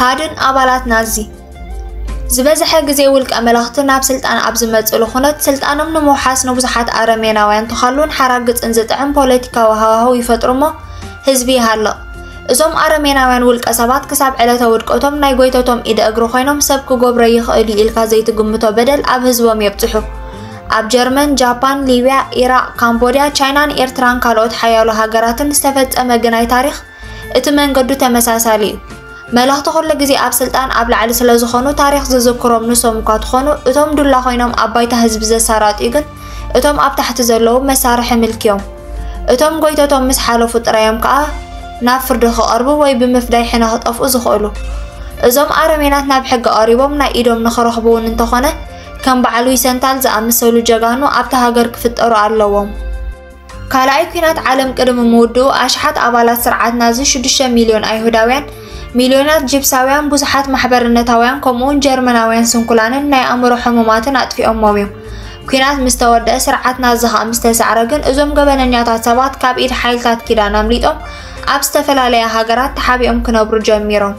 ሃድን ኣባላት ናዚ ዝበዝሐ ግዜ ውልቀ መለኽቲ ናብ ስልጣን ኣብ ዝመጽእሉ ኩነት፣ ስልጣኖም ንምውሓስ ንብዙሓት ኣረሜናውያን ተኻሉን ሓራግጽን ዝጥዕም ፖለቲካዊ ሃዋህው ይፈጥሩ እሞ፣ ህዝቢ ይሃልቕ። እዞም ኣረሜናውያን ውልቀ ሰባት ክሳብ ዕለተ ውድቀቶም ናይ ጎይተቶም ኢደ እግሪ ኮይኖም፣ ሰብ ክጎብሮ ይኽእል እዩ ኢልካ ዘይትግምቶ በደል ኣብ ህዝቦም የብጽሑ። ኣብ ጀርመን፣ ጃፓን፣ ሊብያ፣ ኢራቕ፣ ካምቦድያ፣ ቻይናን ኤርትራን ካልኦት ሓያሎ ሃገራትን ዝተፈጸመ ግናይ ታሪኽ፣ እቲ መንገዱ ተመሳሳሊ እዩ። መለኽቲ ኩሉ ግዜ ኣብ ስልጣን ኣብ ላዕሊ ስለ ዝኾኑ፣ ታሪኽ ዝዝክሮም ንሶም እኳ ትኾኑ፣ እቶም ዱላ ኮይኖም ኣብ ባይታ ህዝቢ ዘሳራጥዩ ግን እቶም ኣብ ታሕቲ ዘለዉ መሳርሒ ምልኪ እዮም። እቶም ጎይተቶም ምስ ሓለፉ ጥራይ እዮም ከኣ ናብ ፍርዲ ክቐርቡ ወይ ብምፍዳይ ሕነ ክጠፍኡ ዝኽእሉ። እዞም ኣረሜናት ናብ ሕጊ ቀሪቦም ናይ ኢዶም ንኽረኽቡ እውን እንተኾነ፣ ከም በዓል ዊሰንታል ዝኣመሰሉ ጀጋኑ ኣብታ ሃገር ክፍጠሩ ኣለዎም። ካልኣይ ኲናት ዓለም ቅድሚ ምውድኡ፣ ኣሽሓት ኣባላት ስርዓት ናዚ፣ ሽዱሽተ ሚልዮን ኣይሁዳውያን፣ ሚልዮናት ጂፕሳውያን፣ ብዙሓት ማሕበርነታውያን፣ ከምኡውን ጀርመናውያን ስንኩላንን ናይ ኣእምሮ ሕሙማትን ኣጥፊኦሞም እዮም። ኲናት ምስ ተወድአ፣ ስርዓት ናዚ ኸኣ ምስ ተሳዕረ ግን፣ እዞም ገበነኛታት ሰባት ካብ ኢድ ሓይልታት ኪዳን ኣምሊጦም ኣብ ዝተፈላለያ ሃገራት ተሓቢኦም ክነብሩ ጀሚሮም።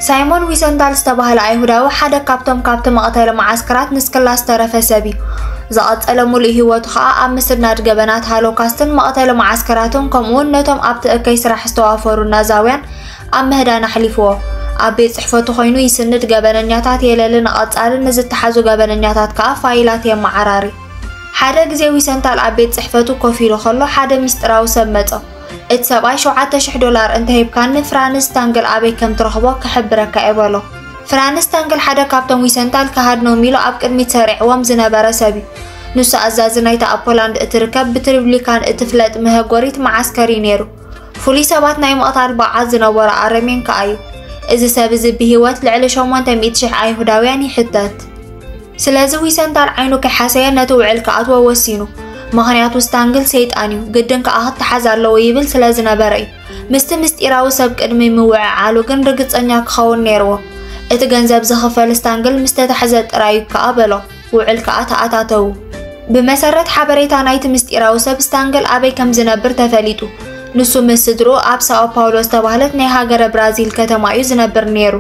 ሳይሞን ዊሰንታል ዝተባህለ ኣይሁዳዊ ሓደ ካብቶም ካብቲ መቕተሊ መዓስከራት ንስክላ ዝተረፈ ሰብ እዩ። ዝቐጸለ ሙሉእ ህይወቱ ኸኣ ኣብ ምስናድ ገበናት ሃሎካስትን መቕተሊ መዓስከራትን፣ ከምኡውን ነቶም ኣብቲ እከይ ስራሕ ዝተዋፈሩ ናዛውያን ኣብ ምህዳን ኣሕሊፍዎ። ኣብ ቤት ጽሕፈቱ ኮይኑ ይስንድ፣ ገበነኛታት የለሊ፣ ንቐጻሊ ንዝተሓዙ ገበነኛታት ከኣ ፋይላት የመዓራሪ። ሓደ ግዜ ዊሰንታል ኣብ ቤት ጽሕፈቱ ኮፍ ኢሉ ከሎ፣ ሓደ ምስጢራዊ ሰብ መጾ። እቲ ሰብኣይ፣ "ሸውዓተ ሽሕ ዶላር እንተሂብካኒ፣ ፍራንስ ስታንግል ኣበይ ከም ትረኽቦ ክሕብረካ እየ" በሎ። ፍራንስ ስታንግል ሓደ ካብቶም ዊሰንታል ክሃድኖም ኢሉ ኣብ ቅድሚት ሰሪዕዎም ዝነበረ ሰብ እዩ። ንሱ ኣዛዚ ናይታ ኣብ ፖላንድ እትርከብ ብትሪብሊካን እትፍለጥ መሀጎሪት መዓስከር እዩ ነይሩ። ፍሉይ ሰባት ናይ ምቕታል ብቕዓት ዝነበሮ ኣረሜን ከኣ እዩ። እዚ ሰብ እዚ ብህይወት ልዕሊ ሸሞንተ ሚእቲ ሽሕ ኣይሁዳውያን ይሕተት። ስለዚ ዊሰንታል ዓይኑ ከይሓሰየ ነቲ ውዕል ክኣትዎ ወሲኑ። ምኽንያቱ ስታንግል ሰይጣን እዩ፣ ግድን ከኣ ክተሓዝ ኣለዎ ይብል ስለ ዝነበረ እዩ። ምስቲ ምስጢራዊ ሰብ ቅድሚ ምውዕዓሉ ግን ርግጸኛ ክኸውን ነይርዎ። እቲ ገንዘብ ዝኽፈል ስታንግል ምስ ተታሕዘ ጥራይ እዩ ከኣ በሎ። ውዕል ከኣ ተኣታተዉ። ብመሰረት ሓበሬታ ናይቲ ምስጢራዊ ሰብ፣ ስታንግል ኣበይ ከም ዝነብር ተፈሊጡ። ንሱ ምስ ስድርኡ ኣብ ሳኦ ፓውሎ ዝተባህለት ናይ ሃገረ ብራዚል ከተማ እዩ ዝነብር ነይሩ።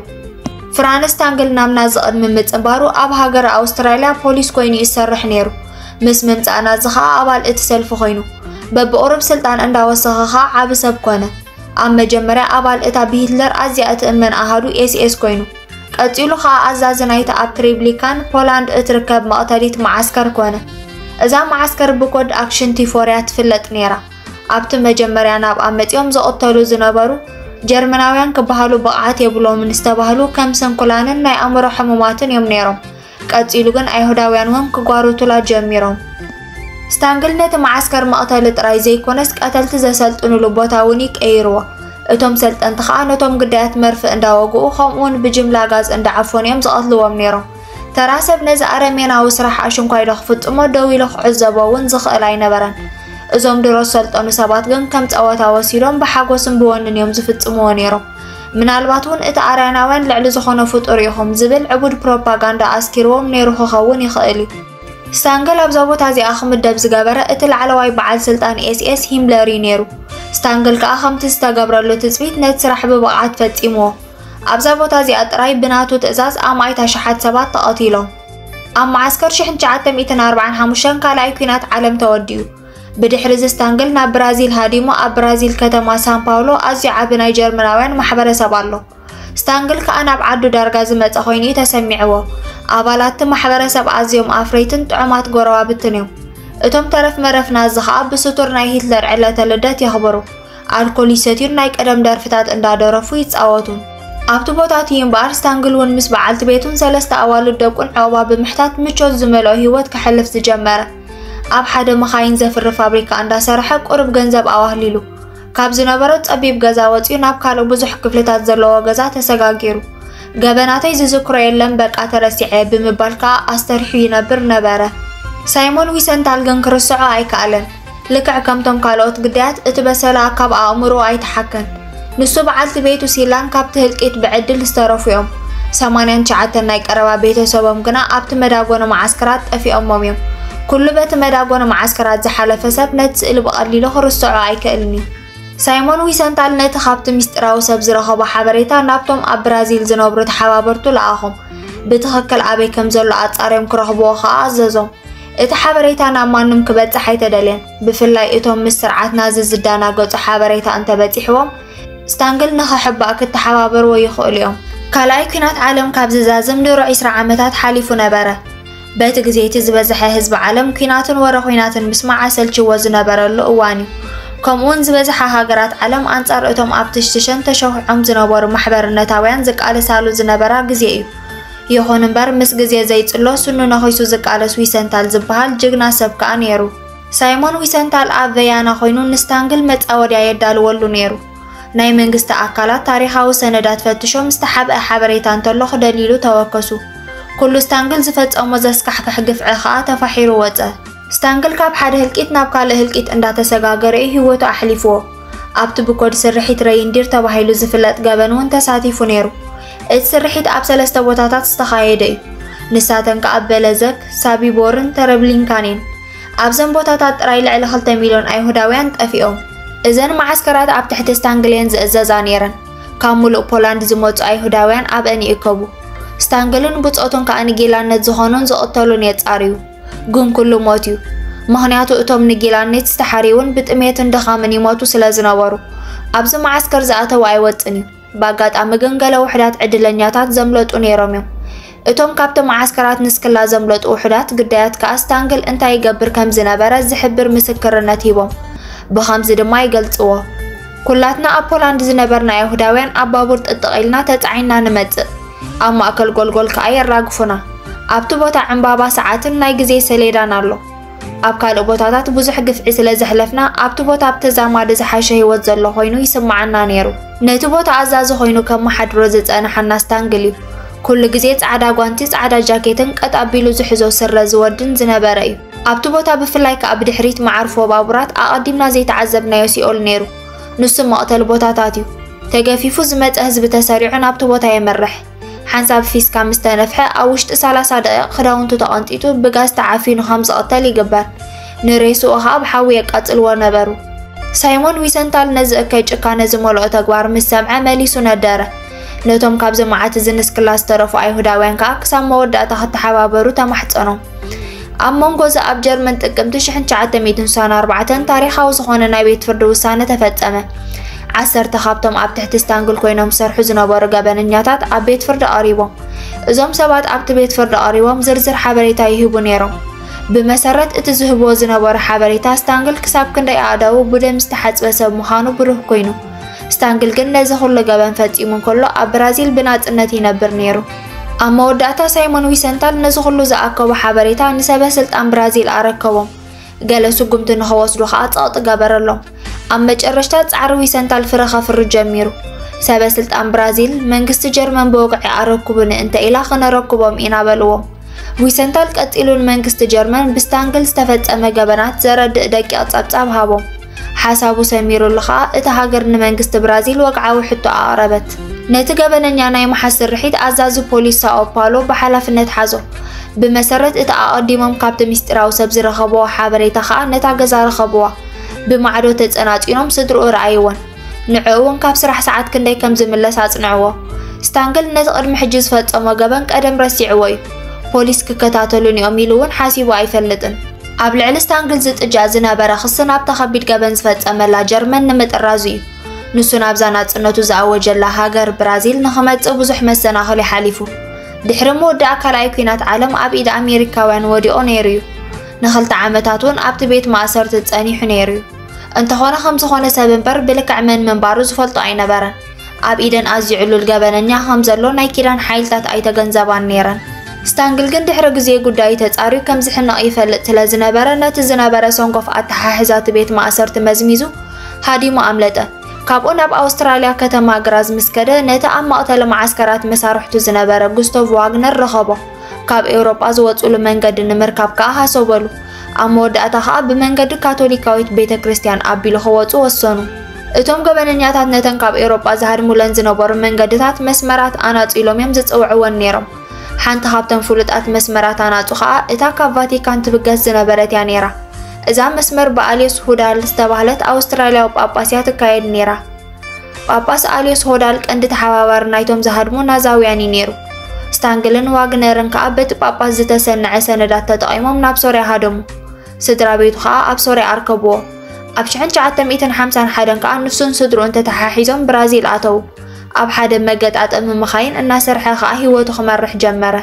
ፍራንስ ስታንግል ናብ ናዚ ቅድሚ ምጽንባሩ ኣብ ሃገረ ኣውስትራልያ ፖሊስ ኮይኑ ይሰርሕ ነይሩ። ምስ ምምጻእ ናዚ ኸኣ ኣባል እቲ ሰልፊ ኮይኑ፣ በብቑሩብ ስልጣን እንዳወሰኸ ኸኣ ዓቢ ሰብ ኮነ። ኣብ መጀመርያ ኣባል እታ ብሂትለር ኣዝያ እትእመን ኣሃዱ ኤስኤስ ኮይኑ፣ ቀጺሉ ኸኣ ኣዛዚ ናይታ ኣብ ትሪብሊካን ፖላንድ እትርከብ መቕተሊት መዓስከር ኮነ። እዛ መዓስከር ብኮድ ኣክሽን ቲፎርያ ትፍለጥ ነይራ። ኣብቲ መጀመርያ ናብኣ መጺኦም ዝቕተሉ ዝነበሩ ጀርመናውያን ክበሃሉ ብቕዓት የብሎምን ዝተባህሉ ከም ስንኩላንን ናይ ኣእምሮ ሕሙማትን እዮም ነይሮም። ቀጺሉ ግን ኣይሁዳውያን እውን ክጓርቱላ ጀሚሮም። ስታንግል ነቲ መዓስከር መቕተሊ ጥራይ ዘይኮነስ፣ ቀተልቲ ዘሰልጥኑሉ ቦታ እውን እዩ ቀይርዎ። እቶም ሰልጠንቲ ኸኣ ነቶም ግዳያት መርፍእ እንዳወግኡ፣ ከምኡውን ብጅምላ ጋዝ እንዳዓፈኑ እዮም ዝቐትልዎም ነይሮም። ተራ ሰብ ነዚ ኣረሜናዊ ስራሕ ኣሽንኳይ ዶ ክፍጽሞ ደው ኢሉ ክዕዘቦ እውን ዝኽእል ኣይነበረን። እዞም ድሮ ዝሰልጠኑ ሰባት ግን ከም ጸወታ ወሲዶም ብሓጎስን ብወንን እዮም ዝፍጽምዎ ነይሮም። ምናልባት እውን እቲ ኣርያናውያን ልዕሊ ዝኾነ ፍጡር ኢኹም ዝብል ዕቡድ ፕሮፓጋንዳ ኣስኪርዎም ነይሩ ክኸውን ይኽእል እዩ። ስታንግል ኣብዛ ቦታ እዚኣ ክምደብ ዝገበረ እቲ ላዕለዋይ በዓል ስልጣን ኤስኤስ ሂምለር እዩ ነይሩ። ስታንግል ከኣ ከምቲ ዝተገብረሉ ትጽቢት ነቲ ስራሕ ብብቕዓት ፈጺምዎ። ኣብዛ ቦታ እዚኣ ጥራይ ብናቱ ትእዛዝ ኣማኢት ኣሽሓት ሰባት ተቐቲሎም። ኣብ መዓስከር ሽሕ ትሽዓተ ሚእትን ኣርባዓን ሓሙሽተን ካልኣይ ኲናት ዓለም ተወዲኡ። ብድሕሪ እዚ ስታንግል ናብ ብራዚል ሃዲሙ። ኣብ ብራዚል ከተማ ሳን ፓውሎ ኣዝዩ ዓቢ ናይ ጀርመናውያን ማሕበረሰብ ኣሎ። ስታንግል ከኣ ናብ ዓዱ ዳርጋ ዝመጸ ኮይኑ እዩ ተሰሚዕዎ። ኣባላት እቲ ማሕበረሰብ ኣዝዮም ኣፍረይትን ጥዑማት ጎረባብትን እዮም። እቶም ተረፍ መረፍ ናዚ ከኣ ብስቱር ናይ ሂትለር ዕለተ ልደት የኽብሩ። ኣልኮል ይሰትዩን ናይ ቀደም ደርፍታት እንዳደረፉ ይጻወቱን። ኣብቲ ቦታ እቲ እምበኣር ስታንግል እውን ምስ በዓልቲ ቤቱን ሰለስተ ኣዋልድ ደቁን ዕቑባ ብምሕታት ምቾት ዝመልኦ ህይወት ከሕልፍ ዝጀመረ። ኣብ ሓደ መኻይን ዘፍሪ ፋብሪካ እንዳሰርሐ ቁሩብ ገንዘብ ኣዋህሊሉ። ካብ ዝነበሮ ጸቢብ ገዛ ወጺኡ ናብ ካልእ ብዙሕ ክፍልታት ዘለዎ ገዛ ተሰጋጊሩ። "ገበናተይ ዝዝክሮ የለን፣ በቃ ተረሲዐ" ብምባል ከኣ ኣስተሪሑ ይነብር ነበረ። ሳይሞን ዊሰንታል ግን ክርስዖ ኣይከኣለን። ልክዕ ከምቶም ካልኦት ግዳያት እቲ በሰላ ካብ ኣእምሮኡ ኣይተሓከን። ንሱ በዓልቲ ቤቱ ሲላን ካብቲ ህልቂት ብዕድል ዝተረፉ እዮም። ሰማንያን ትሽዓተን ናይ ቀረባ ቤተሰቦም ግና ኣብቲ መዳጎኒ መዓስከራት ጠፊኦሞም እዮም። ኩሉ በቲ መዳጎኒ መዓስከራት ዝሓለፈ ሰብ ነቲ ስእሊ ብቐሊሉ ክርስዖ ኣይክእልን እዩ። ሳይሞን ዊሰንታል ነቲ ካብቲ ምስጢራዊ ሰብ ዝረኸቦ ሓበሬታ ናብቶም ኣብ ብራዚል ዝነብሩ ተሓባበርቱ ለኣኾም። ብትኽክል ኣበይ ከም ዘሎ ኣጻርዮም ክረኽብዎ ከኣ ኣዘዞም። እቲ ሓበሬታ ናብ ማንም ክበጽሕ ኣይተደልየን። ብፍላይ እቶም ምስ ስርዓት ናዚ ዝዳናገጹ ሓበሬታ እንተበጺሕዎም፣ ስታንግል ንኸሕባእ ክተሓባበርዎ ይኽእሉ እዮም። ካልኣይ ኲናት ዓለም ካብ ዝዛዝም ድሮ ዒስራ ዓመታት ሓሊፉ ነበረ። በቲ ግዜ እቲ ዝበዝሐ ህዝቢ ዓለም ኲናትን ወረ ኲናትን ምስማዕ ኣሰልችዎ ዝነበረሉ እዋን እዩ። ከምኡውን ዝበዝሓ ሃገራት ዓለም ኣንጻር እቶም ኣብ ትሽትሸን ተሸኺዖም ዝነበሩ ማሕበርነታውያን ዝቃለሳሉ ዝነበራ ግዜ እዩ። ይኹን እምበር፣ ምስ ግዜ ዘይጽሎ ስኑ ነኺሱ ዝቃለስ ዊሰንታል ዝበሃል ጅግና ሰብ ከኣ ነይሩ። ሳይሞን ዊሰንታል ኣብ ቨያና ኮይኑ ንስታንግል መጻወድያ የዳልወሉ ነይሩ። ናይ መንግስቲ ኣካላት ታሪኻዊ ሰነዳት ፈትሾም ዝተሓብአ ሓበሬታ እንተሎ ክደልይሉ ተወከሱ። ኩሉ ስታንግል ዝፈጸሞ ዘስካሕክሕ ግፍዒ ከኣ ተፋሒሩ ወጸ። ስታንግል ካብ ሓደ ህልቂት ናብ ካልእ ህልቂት እንዳተሰጋገረ እዩ ህይወቱ ኣሕሊፍዎ። ኣብቲ ብኮድ ስርሒት ረይንዲር ተባሂሉ ዝፍለጥ ገበን እውን ተሳቲፉ ነይሩ። እቲ ስርሒት ኣብ ሰለስተ ቦታታት ዝተኻየደ እዩ። ንሳተን ከኣ በለዘክ፣ ሳቢቦርን ተረብሊንካን እየን። ኣብዘን ቦታታት ጥራይ ልዕሊ ክልተ ሚልዮን ኣይሁዳውያን ጠፊኦም። እዘን መዓስከራት ኣብ ትሕቲ ስታንግል እየን ዝእዘዛ ነይረን። ካብ ሙሉእ ፖላንድ ዝመጹ ኣይሁዳውያን ኣብአን ይእከቡ። ስታንግልን ብጾቱን ከኣ ንጊላነት ዝኾኑን ዝቕተሉን የጻርዩ። ግን ኩሉ ሞት እዩ። ምኽንያቱ እቶም ንጊላነት ዝተሓርዩን ብጥሜትን ድኻምን ይሞቱ ስለ ዝነበሩ፣ ኣብዚ መዓስከር ዝኣተወ ኣይወጽን እዩ። ብኣጋጣሚ ግን ገለ ውሑዳት ዕድለኛታት ዘምለጡ ነይሮም እዮም። እቶም ካብቲ መዓስከራት ንስክላ ዘምለጡ ውሑዳት ግዳያት ከኣ ስታንግል እንታይ ይገብር ከም ዝነበረ ዝሕብር ምስክርነት ሂቦም። ብኸምዚ ድማ ይገልጽዎ። ኩላትና ኣብ ፖላንድ ዝነበርና ኣይሁዳውያን ኣብ ባቡር ጥጥቕ ኢልና ተጻዒንና ንመጽእ። ኣብ ማእከል ጎልጎል ከኣ የራግፉና። ኣብቲ ቦታ ዕምባባ ሰዓትን ናይ ግዜ ሰሌዳን ኣሎ። ኣብ ካልእ ቦታታት ብዙሕ ግፍዒ ስለ ዘሕለፍና፣ ኣብቲ ቦታ ብተዛማዲ ዝሓሸ ህይወት ዘሎ ኮይኑ ይስምዓና ነይሩ። ነቲ ቦታ ኣዛዚ ኮይኑ ከመሓድሮ ዝጸንሓና ስታንግል እዩ። ኩሉ ግዜ ጻዕዳ ጓንቲ፣ ጻዕዳ ጃኬትን ቀጥ ኣቢሉ ዝሕዞ ስረ ዝወድን ዝነበረ እዩ። ኣብቲ ቦታ ብፍላይ ከኣ ብድሕሪት መዓርፎ ባቡራት ኣቐዲምና ዘይተዓዘብናዮ ሲኦል ነይሩ። ንሱ መቕተሊ ቦታታት እዩ። ተገፊፉ ዝመጸ ህዝቢ ተሰሪዑ ናብቲ ቦታ የምርሕ። ሓንሳብ ፊስካ ምስ ተነፍሐ ኣብ ውሽጢ ሰላሳ ደቂቕ ክዳውንቱ ተቐንጢጡ ብጋዝ ተዓፊኑ ከም ዝቕተል ይግበር። ንሬስኡ ኸኣ ብሓዊ የቃጽልዎ ነበሩ። ሳይሞን ዊሰንታል ነዚ እከይ ጭካነ ዝመልኦ ተግባር ምስ ሰምዐ መሊሱ ነደረ። ነቶም ካብዚ መዓት እዚ ንስክላ ዝተረፉ ኣይሁዳውያን ከኣ ክሳብ መወዳእታ ክተሓባበሩ ተማሕጸኖም። ኣብ መንጎ እዚ ኣብ ጀርመን ጥቅምቲ ሽሕን ትሽዓተ ሚእትን ስሳን ኣርባዕተን ታሪኻዊ ዝኾነ ናይ ቤት ፍርዲ ውሳነ ተፈጸመ። ዓሰርተ ካብቶም ኣብ ትሕቲ ስታንግል ኮይኖም ዝሰርሑ ዝነበሩ ገበነኛታት ኣብ ቤት ፍርዲ ቀሪቦም። እዞም ሰባት ኣብቲ ቤት ፍርዲ ቀሪቦም ዝርዝር ሓበሬታ ይህቡ ነይሮም። ብመሰረት እቲ ዝህብዎ ዝነበሩ ሓበሬታ፣ ስታንግል ክሳብ ክንደይ ኣእዳዉ ብደም ዝተሓጽበ ሰብ ምዃኑ ብሩህ ኮይኑ። ስታንግል ግን ነዚ ኩሉ ገበን ፈጺሙ እንከሎ ኣብ ብራዚል ብናጽነት ይነብር ነይሩ። ኣብ መወዳእታ ሳይሞን ዊሰንታል ነዚ ኩሉ ዝኣከቦ ሓበሬታ ንሰበ ስልጣን ብራዚል ኣረከቦም። ገለ ስጉምቲ ንኸወስዱ ኸኣ ጸቕጢ ገበረሎም። ኣብ መጨረሽታ ጻዕሪ ዊሰንታል ፍረ ከፍሪ ጀሚሩ። ሰበ ስልጣን ብራዚል፣ መንግስቲ ጀርመን ብወግዒ ኣረክቡኒ እንተ ኢላ ክነረክቦም ኢና በልዎም። ዊሰንታል ቀጺሉ ንመንግስቲ ጀርመን ብስታንግል ዝተፈጸመ ገበናት ዘረድእ ደቂቕ ጸብጻብ ሃቦም። ሓሳቡ ሰሚሩሉ ኸኣ እታ ሃገር ንመንግስቲ ብራዚል ወግዓዊ ሕቶ ኣቕረበት። ነቲ ገበነኛ ናይ ምሓዝ ስርሒት ኣዛዚ ፖሊስ ሳኦ ፓውሎ ብሓላፍነት ሓዞ። ብመሰረት እቲ ኣቐዲሞም ካብቲ ምስጢራዊ ሰብ ዝረኸብዎ ሓበሬታ ኸኣ ነታ ገዛ ረኸብዋ። ብማዕዶ ተጸናጺኖም ስድርኡ ረኣይወን። ንዕኡ እውን ካብ ስራሕ ሰዓት ክንደይ ከም ዝምለስ ኣጽንዕዎ። ስታንግል ነቲ ቅድሚ ሕጂ ዝፈጸሞ ገበን ቀደም ረሲዕዎ እዩ። ፖሊስ ክከታተሉኒ እዮም ኢሉ እውን ሓሲቡ ኣይፈልጥን። ኣብ ልዕሊ ስታንግል ዝጥጃእ ዝነበረ ክሲ ናብታ ከቢድ ገበን ዝፈጸመላ ጀርመን ንምጥራዙ እዩ። ንሱ ናብዛ ናጽነቱ ዝኣወጀላ ሃገር ብራዚል ንኽመጽእ ብዙሕ መሰናኽል ሓሊፉ። ድሕሪ መወዳእ ካልኣይ ኲናት ዓለም ኣብ ኢድ ኣሜሪካውያን ወዲቑ ነይሩ እዩ። ንኽልተ ዓመታት እውን ኣብቲ ቤት ማእሰርቲ ጸኒሑ ነይሩ እዩ። እንተኾነ ከም ዝኾነ ሰብ እምበር ብልክዕ መን ምንባሩ ዝፈልጦ ኣይነበረን። ኣብ ኢደን ኣዝዩ ዕሉል ገበነኛ ከም ዘሎ ናይ ኪዳን ሓይልታት ኣይተገንዘባን ነይረን። ስታንግል ግን ድሕሪ ግዜ ጉዳዩ ተጻርዩ ከም ዝሕነቕ ይፈልጥ ስለ ዝነበረ ነቲ ዝነበረ ሰንኮፍ ኣተሓሕዛ እቲ ቤት ማእሰርቲ መዝሚዙ ሃዲሙ ኣምለጠ። ካብኡ ናብ ኣውስትራልያ ከተማ ግራዝ ምስ ከደ ነቲ ኣብ መቕተሊ መዓስከራት መሳርሕቱ ዝነበረ ጉስቶቭ ዋግነር ረኸቦ። ካብ ኤውሮጳ ዝወጽሉ መንገዲ ንምርካብ ከኣ ሃሰበሉ። ኣብ መወዳእታ ከኣ ብመንገዲ ካቶሊካዊት ቤተ ክርስቲያን ኣቢሉ ክወጹ ወሰኑ። እቶም ገበነኛታት ነተን ካብ ኤውሮጳ ዝሃድሙለን ዝነበሩ መንገድታት መስመራት ኣናጺሎም እዮም ዝጽውዕወን ነይሮም። ሓንቲ ካብተን ፍሉጣት መስመራት ኣናጹ ከኣ እታ ካብ ቫቲካን ትብገስ ዝነበረት እያ ነይራ። እዛ መስመር ብኣልዮስ ሁዳል ዝተባህለት ኣውስትራልያዊ ጳጳስ እያ ትካየድ ነይራ። ጳጳስ ኣልዮስ ሆዳል ቀንዲ ተሓባባሪ ናይቶም ዝሃድሙ ናዛውያን እዩ ነይሩ። ስታንግልን ዋግነርን ከኣ በቲ ጳጳስ ዝተሰነዐ ሰነዳት ተጠቒሞም ናብ ሶርያ ሃደሙ። ስድራ ቤቱ ከኣ ኣብ ሶርያ ኣርከብዎ። ኣብ ሽሕን ትሽዓተ ሚእትን ሓምሳን ሓደን ከኣ ንሱን ስድርኡን ተተሓሒዞም ብራዚል ኣተዉ። ኣብ ሓደ መገጣጠሚ መኻይን እናሰርሐ ከኣ ህይወቱ ክመርሕ ጀመረ።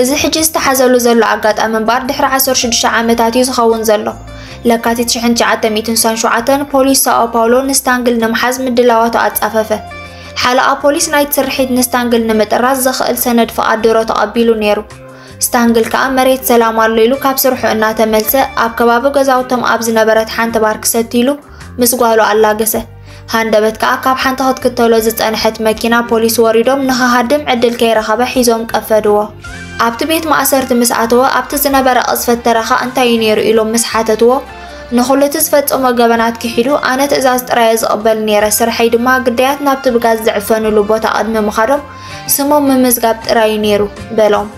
እዚ ሕጂ ዝተሓዘሉ ዘሎ ኣጋጣሚ እምበኣር ድሕሪ ዓሰርተ ሽዱሽተ ዓመታት እዩ ዝኸውን ዘሎ። ለካቲት ሽሕን ትሽዓተ ሚእትን ስሳን ሸውዓተን ፖሊስ ሳኦ ፓውሎ ንስታንግል ንምሓዝ ምድላዋቱ ኣጻፈፈ። ሓለቓ ፖሊስ ናይቲ ስርሒት ንስታንግል ንምጥራዝ ዘኽእል ሰነድ ፍቓድ ድሮ ተቐቢሉ ነይሩ። ስታንግል ከኣ መሬት ሰላም ኣሎ ኢሉ ካብ ስርሑ እናተመልሰ ኣብ ከባቢ ገዛውቶም ኣብ ዝነበረት ሓንቲ ባር ክሰቲ ኢሉ ምስ ጓሉ ኣላገሰ። ሃንደበት ከኣ ካብ ሓንቲ ክትክተሎ ዝጸንሐት መኪና ፖሊስ ወሪዶም ንኽሃድም ዕድል ከይረኸበ ሒዞም ቀፈድዎ። ኣብቲ ቤት ማእሰርቲ ምስ ኣተወ ኣብቲ ዝነበረ ቅዝፈት ተረኻ እንታይ እዩ ነይሩ ኢሎም ምስ ሓተትዎ ንኹሉ እቲ ዝፈጸሞ ገበናት ክሒዱ ኣነ ትእዛዝ ጥራየ ዝቕበል ነይረ፣ ስርሐይ ድማ ግዳያት ናብቲ ብጋዝ ዝዕፈንሉ ቦታ ቅድሚ ምኻዶም ስሞም ምምዝጋብ ጥራይ እዩ ነይሩ በሎም።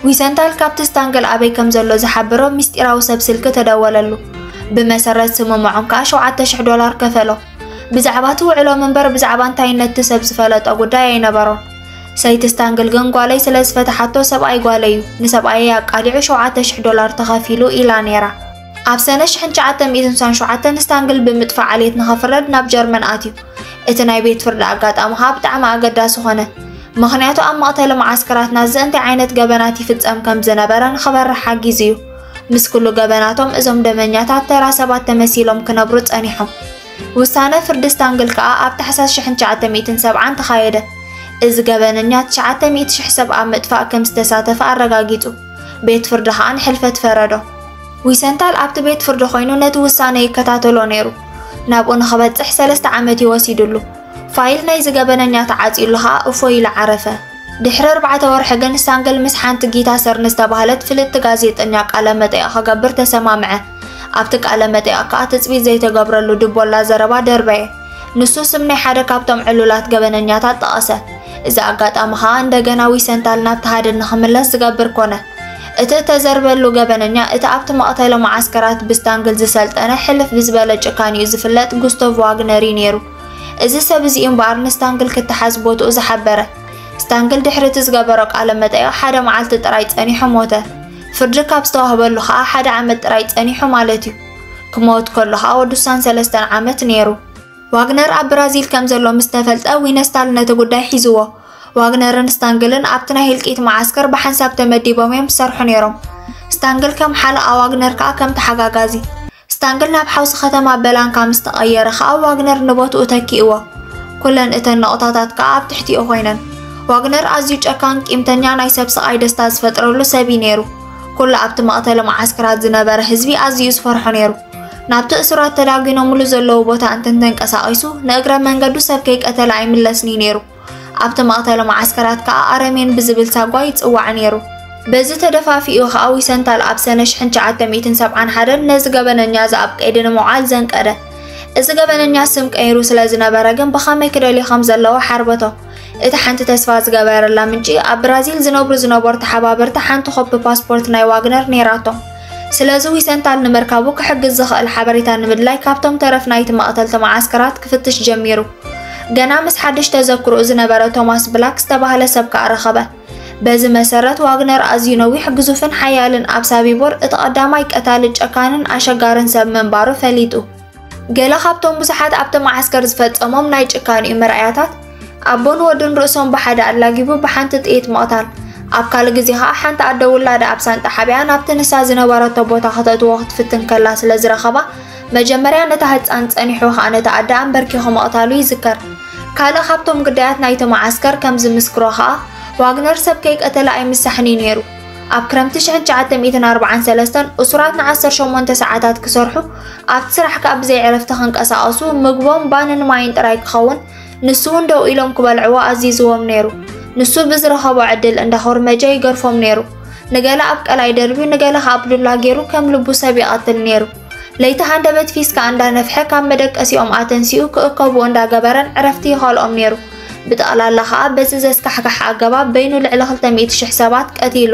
ዊሰንታል ካብቲ ስታንግል ኣበይ ከም ዘሎ ዝሓበሮ ምስጢራዊ ሰብ ስልኪ ተደወለሉ። ብመሰረት ስምምዖም ከኣ ሸውዓተ ሽሕ ዶላር ከፈሎ። ብዛዕባ እቲ ውዕሎም እምበር ብዛዕባ እንታይነት እቲ ሰብ ዝፈለጦ ጉዳይ ኣይነበሮን። ሰይቲ ስታንግል ግን ጓለይ ስለ ዝፈትሓቶ ሰብኣይ ጓለይ እዩ፣ ንሰብኣየይ ኣቃሊዑ ሸውዓተ ሽሕ ዶላር ተኸፊሉ ኢላ ነይራ። ኣብ ሰነ ሽሕን ትሽዓተ ሚእትን ስሳን ሸውዓተን ስታንግል ብምጥፋእ ዓሌት ንኸፍረድ ናብ ጀርመን ኣትዩ። እቲ ናይ ቤት ፍርዲ ኣጋጣሚ ከኣ ብጣዕሚ ኣገዳሲ ኾነ። ምኽንያቱ ኣብ መቕተሊ መዓስከራት ናዚ እንታይ ዓይነት ገበናት ይፍጸም ከም ዝነበረ ንኽበርሕ ሓጊዙ እዩ። ምስ ኩሉ ገበናቶም እዞም ደመኛታት ተራ ሰባት ተመሲሎም ክነብሩ ጸኒሖም። ውሳነ ፍርዲ ስታንግል ከኣ ኣብ ታሕሳስ ሽሕን ትሽዓተ ሚእትን ሰብዓን ተኻየደ። እዚ ገበነኛ ትሽዓተ ሚእቲ ሽሕ ሰብ ኣብ ምጥፋእ ከም ዝተሳተፈ ኣረጋጊጹ። ቤት ፍርዲ ከኣ ንሕልፈት ፈረዶ። ዊሰንታል ኣብቲ ቤት ፍርዲ ኮይኑ ነቲ ውሳነ ይከታተሎ ነይሩ። ናብኡ ንኽበጽሕ ሰለስተ ዓመት እዩ ወሲዱሉ። ፋይል ናይዚ ገበነኛ ተዓጽዩሉ ከኣ እፎይ ኢሉ ዓረፈ። ድሕሪ ኣርባዕተ ወርሒ ግን ስታንግል ምስ ሓንቲ ጊታ ሰርን ዝተባህለት ፍልጥቲ ጋዜጠኛ ቃለ መጠይቕ ክገብር ተሰማምዐ። ኣብቲ ቃለ መጠይቕ ከኣ ትጽቢት ዘይተገብረሉ ድቦላ ዘረባ ደርበየ። ንሱ ስም ናይ ሓደ ካብቶም ዕሉላት ገበነኛታት ጠቐሰ። እዚ ኣጋጣሚ ከኣ እንደገና ዊሰንታል ናብቲ ሃድን ንኽምለስ ዝገብር ኮነ። እቲ እተዘርበሉ ገበነኛ እቲ ኣብቲ መቕተሊ መዓስከራት ብስታንግል ዝሰልጠነ ሕልፍ ብዝበለ ጭካኔኡ ዝፍለጥ ጉስቶቭ ዋግነር እዩ ነይሩ። እዚ ሰብ እዚ እዩ እምበኣር ንስታንግል ክተሓዝ ቦትኡ ዝሓበረ። ስታንግል ድሕሪ እቲ ዝገበሮ ቃለ መጠይቕ ሓደ መዓልቲ ጥራይ ጸኒሑ ሞተ። ፍርዲ ካብ ዝተዋህበሉ ከኣ ሓደ ዓመት ጥራይ ጸኒሑ ማለት እዩ። ክመውት ከሎ ከኣ ወዲ ስሳን ሰለስተን ዓመት ነይሩ። ዋግነር ኣብ ብራዚል ከም ዘሎ ምስ ተፈልጠ ዊነስታል ነቲ ጉዳይ ሒዝዎ። ዋግነርን ስታንግልን ኣብቲ ናይ ህልቂት መዓስከር ብሓንሳብ ተመዲቦም እዮም ዝሰርሑ ነይሮም። ስታንግል ከም ሓለቓ ዋግነር ከኣ ከም ተሓጋጋዚ። ስታንግል ናብ ሓውሲ ከተማ በላንካ ምስ ተቐየረ ከኣ ዋግነር ንቦትኡ ተኪእዎ። ኩለን እተን ነቑጣታት ከኣ ኣብ ትሕቲኡ ኮይነን። ዋግነር ኣዝዩ ጨካን፣ ቂምተኛ፣ ናይ ሰብ ስቓይ ደስታ ዝፈጥረሉ ሰብ እዩ ነይሩ። ኩሉ ኣብቲ መቕተሊ መዓስከራት ዝነበረ ህዝቢ ኣዝዩ ዝፈርሖ ነይሩ። ናብቲ እሱራት ተዳጒኖምሉ ዘለዉ ቦታ እንተንተንቀሳቒሱ ንእግረ መንገዱ ሰብ ከይቀተለ ኣይምለስን እዩ ነይሩ። ኣብቲ መቕተሊ መዓስከራት ከኣ ኣረሜን ብዝብል ሳጓ ይጽዋዕ ነይሩ። በዚ ተደፋፊኡ ከኣ ዊሰንታል ኣብ ሰነ ሽሕን ትሽዓተ ሚእትን ሰብዓን ሓደን ነዚ ገበነኛ እዚ ኣብ ቀይዲ ንምውዓል ዘንቀደ። እዚ ገበነኛ ስም ቀይሩ ስለ ዝነበረ ግን ብኸመይ ክደልዮ ከም ዘለዎ ሓርበቶ። እቲ ሓንቲ ተስፋ ዝገበረላ ምንጪ ኣብ ብራዚል ዝነብሩ ዝነበሩ ተሓባበርቲ ሓንቲ ኮፒ ፓስፖርት ናይ ዋግነር ነይራቶም። ስለዚ ዊሰንታል ንምርካቡ ክሕግዝ ዝኽእል ሓበሬታ ንምድላይ ካብቶም ተረፍ ናይቲ መቕተልቲ መዓስከራት ክፍትሽ ጀሚሩ። ገና ምስ ሓድሽ ተዘክሮኡ ዝነበረ ቶማስ ብላክ ዝተባህለ ሰብ ከኣ ረኸበ። በዚ መሰረት ዋግነር ኣዝዩ ነዊሕ፣ ግዙፍን ሓያልን ኣብ ሳቢቦር እቲ ቀዳማይ ቀታሊ፣ ጨካንን ኣሸጋርን ሰብ ምንባሩ ፈሊጡ። ገለ ካብቶም ብዙሓት ኣብቲ መዓስከር ዝፈጸሞም ናይ ጭካኔኡ መርኣያታት፣ ኣቦን ወዱን ርእሶም ብሓደ ኣላጊቡ ብሓንቲ ጥይት ምቕታል፣ ኣብ ካልእ ግዜ ኸኣ ሓንቲ ኣደ ውላዳ ኣብ ሳንጣ ሓቢኣ ናብቲ ንሳ ዝነበረቶ ቦታ ከተእትዎ ክትፍትን ከላ ስለ ዝረኸባ፣ መጀመርያ ነታ ህጻን ጸኒሑ ኸኣ ነታ ኣደ ኣንበርኪኹ ምቕታሉ ይዝከር። ካልእ ካብቶም ግዳያት ናይቲ መዓስከር ከም ዝምስክሮ ኸኣ፣ ዋግነር ሰብ ከይቀተለ ኣይምሳሕን እዩ ነይሩ። ኣብ ክረምቲ ሽሕን ትሽዓተ ሚእትን ኣርባዓን ሰለስተን እሱራት ንዓሰርተ ሸሞንተ ሰዓታት ክሰርሑ፣ ኣብቲ ስራሕ ከኣ ብዘይ ዕረፍቲ ክንቀሳቐሱ፣ ምግቦም ባንን ማይን ጥራይ ክኸውን፣ ንሱ እውን ደው ኢሎም ክበልዕዎ ኣዚዝዎም ነይሩ። ንሱ ብዝረኸቦ ዕድል እንዳ ኮርመጀ ይገርፎም ነይሩ። ንገለ ኣብ ቀላይ ደርብዩ፣ ንገለ ከኣ ብዱላ ገይሩ ከም ልቡ ሰብ ይቐትል ነይሩ። ለይቲ ሃንደበት ፊስካ እንዳነፍሐ ካብ መደቀሲኦም ኣተንሲኡ ክእከብዎ እንዳገበረን ዕረፍቲ ይኸልኦም ነይሩ። ብጠቕላላ ከኣ በዚ ዘስካሕክሕ ኣገባብ በይኑ ልዕሊ ክልተ ሚእቲ ሽሕ ሰባት ቀቲሉ።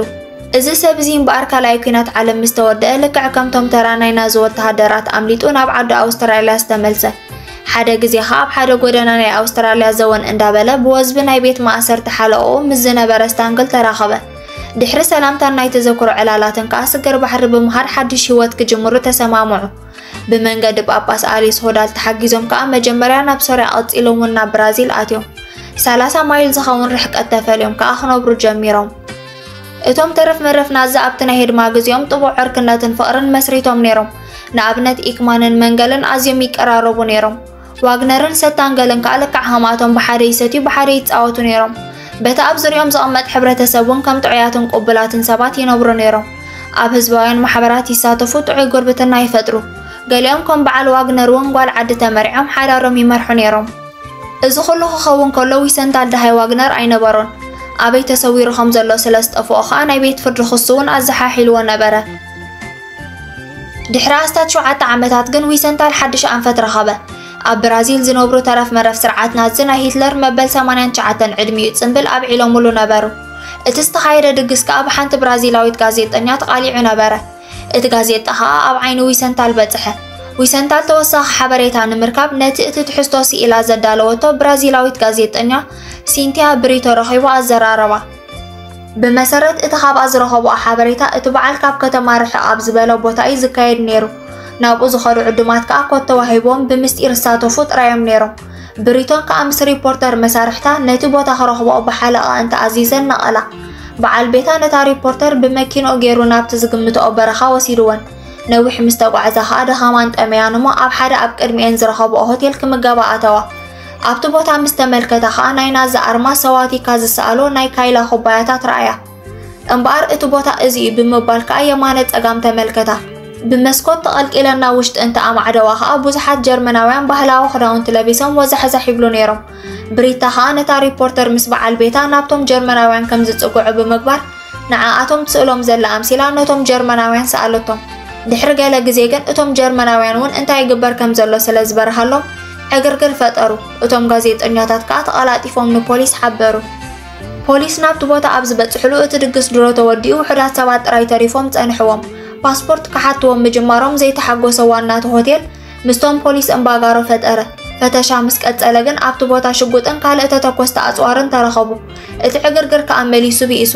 እዚ ሰብ እዚ እምበኣር ካልኣይ ኲናት ዓለም ምስ ተወደአ ልክዕ ከምቶም ተራ ናይ ናዚ ወተሃደራት ኣምሊጡ ናብ ዓዱ ኣውስትራልያ ዝተመልሰ። ሓደ ግዜ ኸኣ ኣብ ሓደ ጎደና ናይ ኣውስትራልያ ዘወን እንዳበለ ብወዝቢ ናይ ቤት ማእሰርቲ ሓለቕኡ ምስ ዝነበረ ስታንግል ተራኸበ። ድሕሪ ሰላምታን ናይ ተዘክሮ ዕላላትን ከኣ ስግር ባሕሪ ብምኻድ ሓድሽ ህይወት ክጅምሩ ተሰማምዑ። ብመንገዲ ጳጳስ ኣሊስ ሆዳል ተሓጊዞም ከኣ መጀመርያ ናብ ሶርያ ቀጺሎም እውን ናብ ብራዚል ኣትዮም። ሰላሳ ማይል ዝኸውን ርሕቀት ተፈልዮም ከኣ ክነብሩ ጀሚሮም። እቶም ተረፍ መረፍ ናዚ ኣብቲ ናይ ህድማ ግዜኦም ጥቡቕ ዕርክነትን ፍቕርን መስሪቶም ነይሮም። ንኣብነት ኢክማንን መንገልን ኣዝዮም ይቀራረቡ ነይሮም። ዋግነርን ሰታንገልን ከኣ ልክዕ ከምኣቶም ብሓደ ይሰትዩ ብሓደ ይጻወቱ ነይሮም። በቲ ኣብ ዙርያኦም ዝቕመጥ ሕብረተሰብ እውን ከም ጥዑያትን ቅቡላትን ሰባት ይነብሩ ነይሮም። ኣብ ህዝባውያን ማሕበራት ይሳተፉ፣ ጥዑይ ጉርብትና ይፈጥሩ። ገሊኦም ከም በዓል ዋግነር እውን ጓል ዓዲ ተመርዕዮም ሓዳሮም ይመርሑ ነይሮም። እዚ ኩሉ ክኸውን ከሎ ዊሰንታል ደሃይ ዋግነር ኣይነበሮን። ኣበይ ተሰዊሩ ከም ዘሎ ስለ ዝጠፍኦ ከኣ ናይ ቤት ፍርዲ ክሱ እውን ኣዘሓሒልዎ ነበረ። ድሕሪ ኣስታት ሸውዓተ ዓመታት ግን ዊሰንታል ሓድሽ ኣንፈት ረኸበ። ኣብ ብራዚል ዝነብሩ ተረፍ መረፍ ስርዓት ናዚ ናይ ሂትለር መበል ሰማንያን ትሽዓተን ዕድሚኡ ጽምብል ኣብዒሎምሉ ነበሩ። እቲ ዝተኻየደ ድግስ ከኣ ብሓንቲ ብራዚላዊት ጋዜጠኛ ተቓሊዑ ነበረ። እቲ ጋዜጣ ከኣ ኣብ ዓይኒ ዊሰንታል በጽሐ። ዊሰንታል ተወሳኺ ሓበሬታ ንምርካብ ነቲ እቲ ትሕዝቶ ስኢላ ዘዳለወቶ ብራዚላዊት ጋዜጠኛ ሲንቲያ ብሪቶ ረኺቡ ኣዘራረባ። ብመሰረት እቲ ካብኣ ዝረኸብኦ ሓበሬታ፣ እቲ በዓል ካብ ከተማ ርሕቕ ኣብ ዝበለ ቦታ እዩ ዝካየድ ነይሩ። ናብኡ ዝኸዱ ዕዱማት ከኣ ኮድ ተዋሂብዎም ብምስጢር ዝሳተፉ ጥራይ እዮም ነይሮም። ብሪቶን ከኣ ምስ ሪፖርተር መሳርሕታ ነቲ ቦታ ክረኽብኦ ብሓለቓ እንተኣዚዘን ነቐላ። በዓል ቤታ ነታ ሪፖርተር ብመኪንኡ ገይሩ ናብቲ ዝግምትኦ በረኻ ወሲድወን። ነዊሕ ምስ ተጓዕዛ ከኣ ድኻማን ጠመያን እሞ ኣብ ሓደ ኣብ ቅድሚኤን ዝረኸብኦ ሆቴል ክምገባ ኣተዋ። ኣብቲ ቦታ ምስ ተመልከታ ከኣ ናይ ናዚ ኣርማ ሰዋቲካ ዝሰኣሎ ናይ ካይላ ኩባያታት ረኣያ። እምበኣር እቲ ቦታ እዚ እዩ ብምባል ከኣ የማነ ጸጋም ተመልከታ። ብመስኮት ተቐልቂለን ናብ ውሽጢ እንተ ኣማዕደዋ ከኣ ብዙሓት ጀርመናውያን ባህላዊ ክዳውንቲ ለቢሶም ወዛሕዛሕ ይብሉ ነይሮም። ብሪታ ከኣ ነታ ሪፖርተር ምስ በዓል ቤታ ናብቶም ጀርመናውያን ከም ዝጽግዑ ብምግባር ንዓኣቶም ትስእሎም ዘላ ኣምሲላ ነቶም ጀርመናውያን ሰኣለቶም። ድሕሪ ገለ ግዜ ግን እቶም ጀርመናውያን እውን እንታይ ይግበር ከም ዘሎ ስለ ዝበርሃሎም ዕግርግር ፈጠሩ። እቶም ጋዜጠኛታት ከኣ ተቐላጢፎም ንፖሊስ ሓበሩ። ፖሊስ ናብቲ ቦታ ኣብ ዝበጽሕሉ እቲ ድግስ ድሮ ተወዲኡ ውሑዳት ሰባት ጥራይ ተሪፎም ጸንሕዎም። ፓስፖርት ክሓትዎም ምጅማሮም ዘይተሓጎሰ ዋና እቲ ሆቴል ምስቶም ፖሊስ እምባጋሮ ፈጠረ። ፈተሻ ምስ ቀጸለ ግን ኣብቲ ቦታ ሽጉጥን ካልእ ተተኮስቲ ኣጽዋርን ተረኸቡ። እቲ ዕግርግር ከኣ መሊሱ ብኢሱ።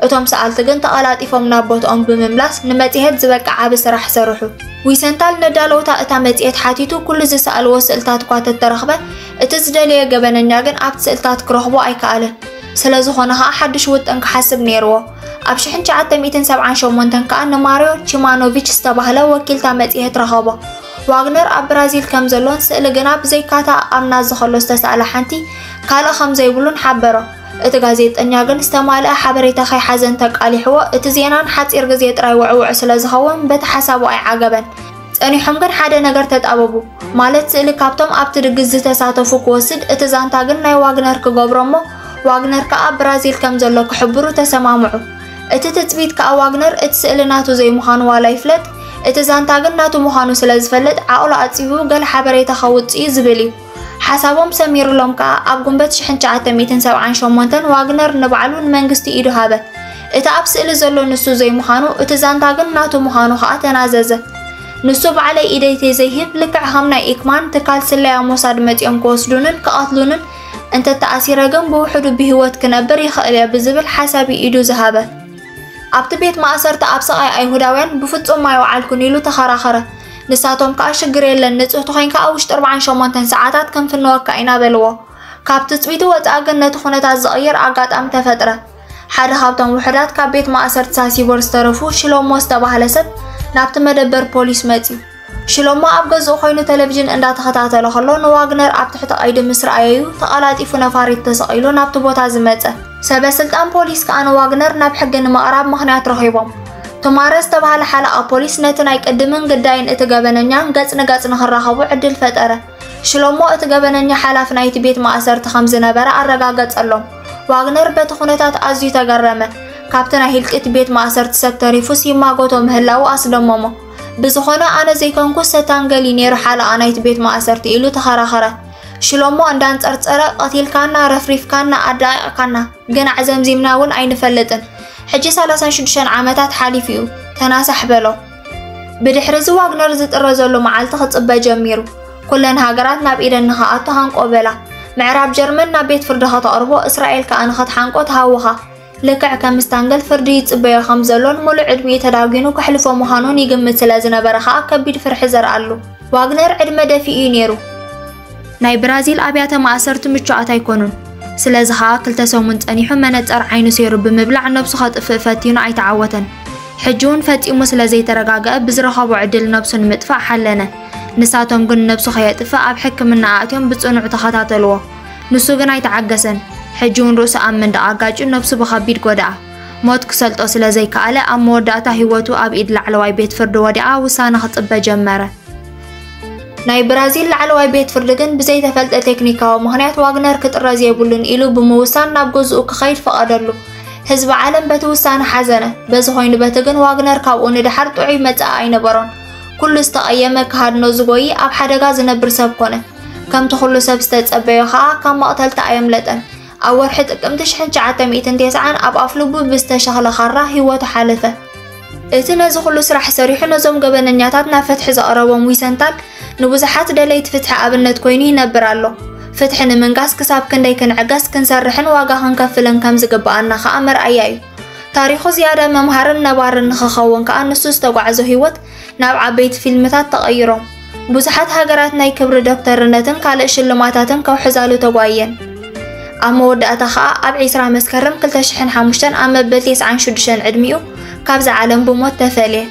እቶም ሰኣልቲ ግን ተቐላጢፎም ናብ ቦትኦም ብምምላስ ንመጽሔት ዝበቅዕ ዓቢ ስራሕ ሰርሑ። ዊሰንታል ነዳለውታ እታ መጽሔት ሓቲቱ ኩሉ ዝሰኣልዎ ስእልታት እኳ ተተረኽበ፣ እቲ ዝደለየ ገበነኛ ግን ኣብቲ ስእልታት ክረኽቦ ኣይከኣለን። ስለ ዝኾነ ኸኣ ሓድሽ ውጥን ክሓስብ ነይርዎ። ኣብ ሽሕን ትሽዓተ ሚእትን ሰብዓን ሸሞንተን ከኣ ንማርዮ ቺማኖቪች ዝተባህለ ወኪልታ መጽሔት ረኸቦ። ዋግነር ኣብ ብራዚል ከም ዘሎን ስእሊ ግና ብዘይካታ ኣብ ናዚ ከሎ ዝተሳእለ ሓንቲ ካልእ ከም ዘይብሉን ሓበሮ። እቲ ጋዜጠኛ ግን ዝተማልአ ሓበሬታ ከይሓዘን ተቃሊሕዎ፣ እቲ ዜናን ሓጺር ግዜ ጥራይ ውዕውዕ ስለ ዝኸውን በቲ ሓሳቡ ኣይዓገበን። ጸኒሖም ግን ሓደ ነገር ተጣበቡ፣ ማለት ስእሊ ካብቶም ኣብቲ ድግስ ዝተሳተፉ ክወስድ፣ እቲ ዛንታ ግን ናይ ዋግነር ክገብሮ እሞ ዋግነር ከኣ ብራዚል ከም ዘሎ ክሕብሩ ተሰማምዑ። እቲ ትጽቢት ከኣ ዋግነር እቲ ስእሊ ናቱ ዘይምዃኑ ዋላ ይፍለጥ፣ እቲ ዛንታ ግን ናቱ ምዃኑ ስለ ዝፈልጥ ዓቕሉ ኣጺቡ ገለ ሓበሬታ ከውጽእ እዩ ዝብል እዩ። ሓሳቦም ሰሚሩሎም ከኣ ኣብ ጉንበት ሽሕን ትሽዓተ ሚእትን ሰብዓን ሸሞንተን ዋግነር ንባዕሉ ንመንግስቲ ኢዱ ሃበ። እቲ ኣብ ስእሊ ዘሎ ንሱ ዘይምዃኑ፣ እቲ ዛንታ ግን ናቱ ምዃኑ ከኣ ተናዘዘ። ንሱ ባዕለይ ኢደይ ተዘይህብ ልክዕ ከም ናይ ኢክማን ትካል ስለያ ሞሳድ መጺኦም ክወስዱንን ክቐትሉንን እንተተኣሲረ ግን ብውሕዱ ብህይወት ክነብር ይኽእል እየ ብዝብል ሓሳብ እዩ ኢዱ ዝሃበ። ኣብቲ ቤት ማእሰርቲ ኣብ ስቓይ ኣይሁዳውያን ብፍጹም ኣይወዓልኩን ኢሉ ተኸራኸረ። ንሳቶም ከኣ ሽግር የለን፣ ንጹህ ተኾይንካ ኣብ ውሽጢ ኣርብዓን ሸሞንተን ሰዓታት ክንፍንወካ ኢና በልዎ። ካብ ትጽቢቱ ወጻኢ ግን ነቲ ኩነታት ዝቕይር ኣጋጣሚ ተፈጥረ። ሓደ ካብቶም ውሑዳት ካብ ቤት ማእሰርቲ ሳሲቦር ዝተረፉ ሽሎሞ ዝተባህለ ሰብ ናብቲ መደበር ፖሊስ መጺኡ። ሽሎሞ ኣብ ገዝኡ ኮይኑ ቴሌቪዥን እንዳተኸታተለ ከሎ ንዋግነር ኣብ ትሕቲ ቀይዲ ምስ ረኣየዩ ተቐላጢፉ ነፋሪት ተሰቒሉ ናብቲ ቦታ ዝመጸ። ሰበ ስልጣን ፖሊስ ከኣ ንዋግነር ናብ ሕጊ ንምቕራብ ምኽንያት ረኺቦም። ቱማረ ዝተባህለ ሓለቓ ፖሊስ ነቲ ናይ ቅድምን ግዳይን እቲ ገበነኛን ገጽ ንገጽ ንኽራኸቡ ዕድል ፈጠረ። ሽሎሞ እቲ ገበነኛ ሓላፊ ናይቲ ቤት ማእሰርቲ ከም ዝነበረ ኣረጋገጸሎም። ዋግነር በቲ ኩነታት ኣዝዩ ተገረመ። ካብቲ ናይ ህልቂት ቤት ማእሰርቲ ሰብ ተሪፉስ ይማጎቶ ምህላዉ ኣስደመሞ። ብዝኾነ ኣነ ዘይኮንኩ ሰታንገል እዩ ነይሩ ሓለቓ ናይቲ ቤት ማእሰርቲ ኢሉ ተኸራኸረ። ሽሎሞ እንዳንጸርጸረ ቀቲልካና፣ ረፍሪፍካና፣ ኣዳቒቕካና፣ ግን ኣዕዘምዚምና እውን ኣይንፈልጥን። ሕጂ ሰላሳን ሽዱሽተን ዓመታት ሓሊፉ እዩ። ተናሳሕ በሎ። ብድሕሪ እዚ ዋግነር ዝጥረዘሉ መዓልቲ ክጽበ ጀሚሩ። ኩለን ሃገራት ናብ ኢደን ንኽኣቱ ሃንቆ በላ። ምዕራብ ጀርመን ናብ ቤት ፍርዲ ከተቕርቦ፣ እስራኤል ከኣ ንኽትሓንቆ ተሃወኻ። ልክዕ ከም ስታንገል ፍርዲ ይጽበዮ ከም ዘሎን ሙሉእ ዕድሚኡ ተዳጒኑ ከሕልፎ ምዃኑን ይግምት ስለ ዝነበረ ከኣ ከቢድ ፍርሒ ዘርኣሉ። ዋግነር ዕድመ ደፊኡ እዩ ነይሩ። ናይ ብራዚል ኣብያተ ማእሰርቲ ምቹኣት ኣይኮኑን። ስለዚ ኸኣ ክልተ ሰሙን ጸኒሑ መነጸር ዓይኑ ሰይሩ ብምብላዕ ነብሱ ከጥፍእ ፈቲኑ ኣይተዓወተን። ሕጂ እውን ፈጺሙ ስለ ዘይተረጋግአ ብዝረኸቦ ዕድል ነብሱ ንምጥፋእ ሓለነ። ንሳቶም ግን ነብሱ ከየጥፍእ ኣብ ሕክምና ኣእትዮም ብጽኑዕ ተኸታተልዎ። ንሱ ግን ኣይተዓገሰን። ሕጂ እውን ርእሱ ኣብ መንደቕ ኣጋጭዩ ነብሱ ብኸቢድ ጎድኣ። ሞት ክሰልጦ ስለ ዘይከኣለ ኣብ መወዳእታ ህይወቱ ኣብ ኢድ ላዕለዋይ ቤት ፍርዲ ወዲቓ ውሳነ ክጽበ ጀመረ። ናይ ብራዚል ላዕለዋይ ቤት ፍርዲ ግን ብዘይተፈልጠ ቴክኒካዊ ምኽንያት ዋግነር ክጥረዝ የብሉን ኢሉ ብምውሳን ናብ ገዝኡ ክኸይድ ፈቐደሉ። ህዝቢ ዓለም በቲ ውሳነ ሓዘነ። በዚ ኮይኑ በቲ ግን ዋግነር ካብኡ ንደሓር ጥዑይ መጻኢ ኣይነበሮን። ኩሉ ዝተቐየመ ክሃድኖ ዝጎይ ኣብ ሓደጋ ዝነብር ሰብ ኮነ። ከምቲ ኩሉ ሰብ ዝተጸበዮ ኸኣ ካብ መቕተልቲ ኣየምለጠን። ኣብ ወርሒ ጥቅምቲ ሽሕን ትሽዓተ ሚእትን ተስዓን ኣብ ኣፍልቡ ብዝተሸኽለ ካራ ህይወቱ ሓለፈ። እቲ ነዚ ኩሉ ስራሕ ሰሪሑ ነዞም ገበነኛታት ናብ ፍትሒ ዘቕረቦም ዊሰንታል ንብዙሓት ደለይቲ ፍትሒ ኣብነት ኮይኑ ይነብር ኣሎ። ፍትሒ ንምንጋስ ክሳብ ክንደይ ክንዕገስ፣ ክንሰርሕን ዋጋ ክንከፍልን ከም ዝግብኣና ኸኣ መርኣያ እዩ። ታሪኹ ዝያዳ መምሃርን ነባርን ንኽኸውን ከኣ ንሱ ዝተጓዕዞ ህይወት ናብ ዓበይቲ ፊልምታት ተቐይሮም። ብዙሓት ሃገራት ናይ ክብሪ ዶክተርነትን ካልእ ሽልማታትን ከውሕዛሉ ተጓየን። ኣብ መወዳእታ ኸኣ ኣብ ዕስራ መስከረም ክልተ ሽሕን ሓሙሽተን ኣብ መበል ተስዓን ሽዱሽተን ዕድሚኡ ካብዛ ዓለም ብሞት ተፈልየ።